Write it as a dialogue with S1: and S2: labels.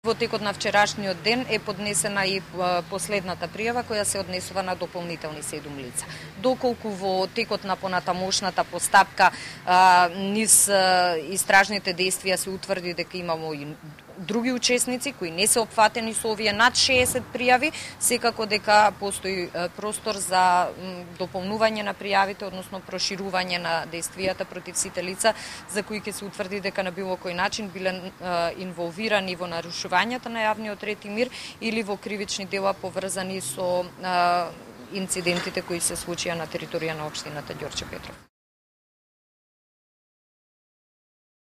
S1: Во текот на вчерашниот ден е поднесена и последната пријава која се однесува на дополнителни 7 лица. Доколку во текот на понатамошната постапка низ истражните действија се утврди дека имамо и други учесници кои не се опфатени со овие над 60 пријави, секако дека постои простор за дополнување на пријавите, односно проширување на действијата против сите лица за кои ќе се утврди дека на било кој начин биле инволвирани во нарушувањата на јавниот ред и мир или во кривични дела поврзани со инцидентите кои се случија на територија на општината Ѓорче Петров.